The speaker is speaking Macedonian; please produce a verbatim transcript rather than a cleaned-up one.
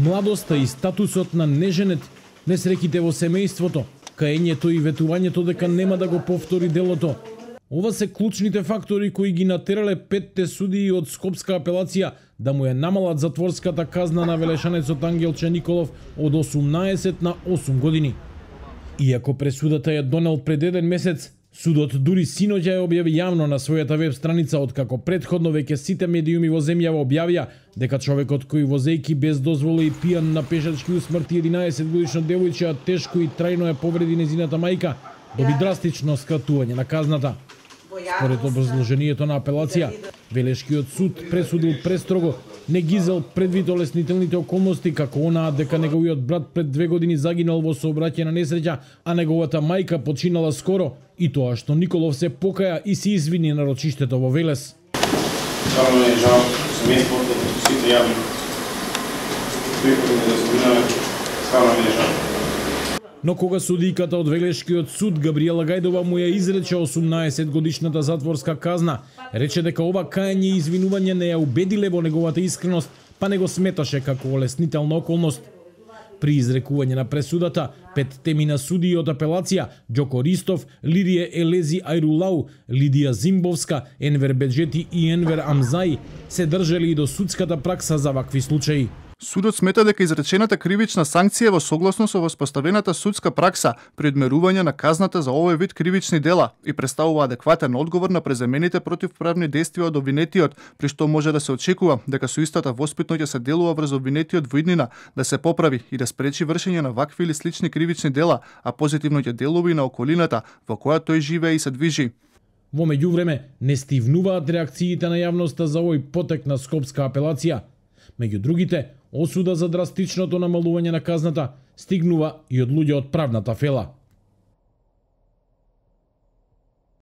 Младоста и статусот на неженет, несреќите во семејството, каењето и ветувањето дека нема да го повтори делото. Ова се клучните фактори кои ги натерале петте судии од Скопска апелација да му ја намалат затворската казна на велешанецот Ангелче Николов од осумнаесет на осум години. Иако пресудата ја донел пред еден месец, судот дури синоќа ја објави јавно на својата веб страница, откако претходно веќе сите медиуми во земјава објавија дека човекот кој возејки без дозвола и пијан на пешачки усмрти единаесет годишно девојче, а тешко и трајно ја повреди незината мајка, доби драстично скратување на казната. Според образложението на апелација, Велешкиот суд пресудил престрого, не гизел предвид олеснителните околности, како онаа дека неговиот брат пред две години загинал во сообраќајна несреќа, а неговата мајка починала скоро, и тоа што Николов се покаја и се извини на рочиштето во Велес. Стварно ми е жал, семејството, сите јавни приходи не заслужаваме, стварно ми е жал. Но кога судиката од Велешкиот суд Габриела Гајдова му ја изрече осумнаесет годишната затворска казна, рече дека ова кајање и извинување не ја убедиле во неговата искреност, па не го сметаше како олеснителна околност. При изрекување на пресудата, пет темина судии од апелација, Ѓоко Ристов, Лидија Елези Ајрулау, Лидија Зимбовска, Енвер Беджети и Енвер Амзаи, се држали и до судската пракса за вакви случаи. Судот смета дека изречената кривична санкција во согласно со воспоставената судска пракса при одмерување на казната за овој вид кривични дела и представува адекватен одговор на преземените противправни действија од обвинетиот, при што може да се очекува дека со истата воспитно ќе се делува врз обвинетиот во иднина да се поправи и да спречи вршење на вакви или слични кривични дела, а позитивно ќе делува и на околината во која тој живее и се движи. Во меѓувреме, не стивнуваат реакциите на јавноста за овој потек на Скопска апелација. Меѓу другите, осуда за драстичното намалување на казната стигнува и од луѓе од правната фела.